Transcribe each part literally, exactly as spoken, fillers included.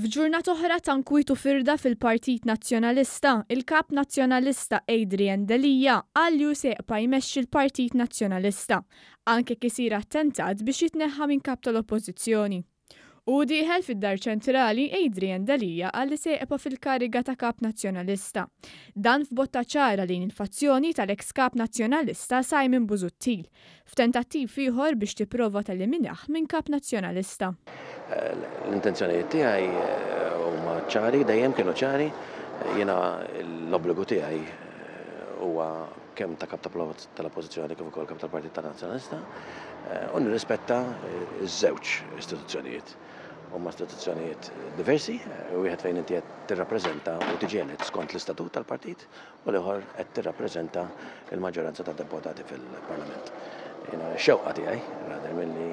F'ġurnata oħra ta' nkwiet u firda fil-Partit Nazzjonalista, il-Kap Nazzjonalista Adrian Delia qal li hu se jibqa' jmexxi l-Partit Nazzjonalista, anke jekk isir attentat biex jitneħħa minn kap tal-Oppożizzjoni. U dieħel fid-Dar Ċentrali, Adrian Delia qal li se jibqa' fil-kariga ta' Kap Nazzjonalista. Dan f'botta ċara lejn il-fazzjoni tal-ex Kap Nazzjonalista Simon Busuttil, f'tentattiv ieħor biex tipprova teliminah minn Kap Nazzjonalista. L-intenzjonijiet tiegħi huma ċari, dejjem kienu ċari. Jiena l-obbligu tiegħi huwa kemm ta' kap tal-Oppożizzjoni kif ukoll kap tal-Partit Nazzjonalista u nirrispetta ż-żewġ istituzzjonijiet. Huma istituzzjonijiet diversi, wieħed fejn inti qed tirrappreżenta u tiġi elett skont l-istatut tal-partit u l-ieħor qed tirrappreżenta l-maġġoranza tad-deputati fil-Parlament. Jiena x-xewqa tiegħi rather milli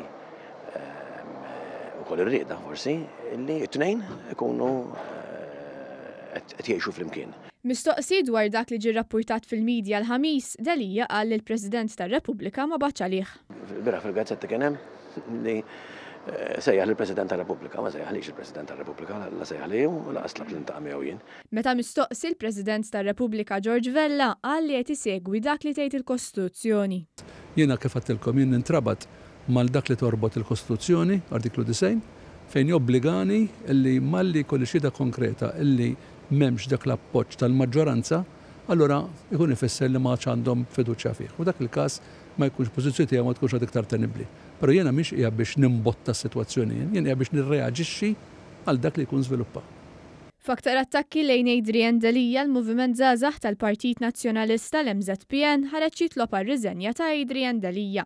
ukoll ir-rieda forsi li t-tnejn ikunu qed jgħixu flimkien. Mistoqsi dwar dak li ġie rrappurtat fil-medja l-Ħamis, Delia qal li l-President tar-Repubblika ma bagħatx għalih. Bieraħ fil-gazzetti kien hemm li sejjaħ lill-President tar-Repubblika, ma sejjaħlix il-President tar-Repubblika, la sejjaħ li u lanqas tlabt li niltaqa' miegħu jien. Meta mistoqsi, l-President tar-Repubblika George Vella qal li qed isegwi dak li tgħid il-Kostituzzjoni. Jiena kif għedtilkom, jien nintrabat mal dak li torbot il-Kostituzzjoni, artiklu disgħin, fejn jobbligani illi malli jkolli xhieda konkreta illi m'hemmx dak l-appoġġ tal-maġġoranza, allura ikun ifisser li ma għadx għandhom fiduċja fih. U dak il-każ ma jkunx pożizzjoni tiegħu ma tkunx għad iktar tenibbli. Però jiena mhix qiegħed biex nimbotta s-sitwazzjoni, jien qiegħed biex nirreaġixxi għal dak li jkun żviluppa. F'aktar attakki lejn Adrian Delia, l-Moviment Żgħażagħ tal-Partit Nazzjonalista, l-M Z P N, ħareġ jitlob għar-riżenja ta' Adrian Delia.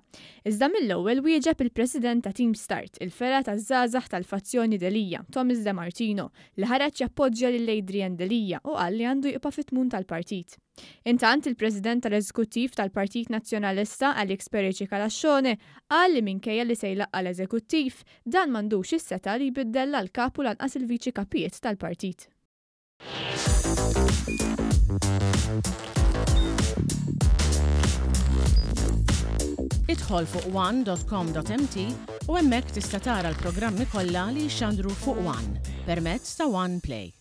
Iżda mill-ewwel wieġeb il-President ta' Team Start, il-fergħa taż-żgħażagħ tal-fazzjoni Delia, Thomas De Martino, li ħareġ jappoġġja lil Adrian Delia u qal li għandu jibqa' fit-tmun tal-partit. Intant, il-President tal-Eżekuttiv tal-Partit Nazzjonalista Alex Perici Calascione qal li minkejja li se jlaqqa' l-Eżekuttiv, dan m'għandux is-setgħa li jbiddel l-kap u lanqas il-viċi kapijiet tal-partit. Idħol fuq one dot com dot M T u hemmhekk tista' tara l-programmi kollha li jxandru fuq One permezz ta' One Play.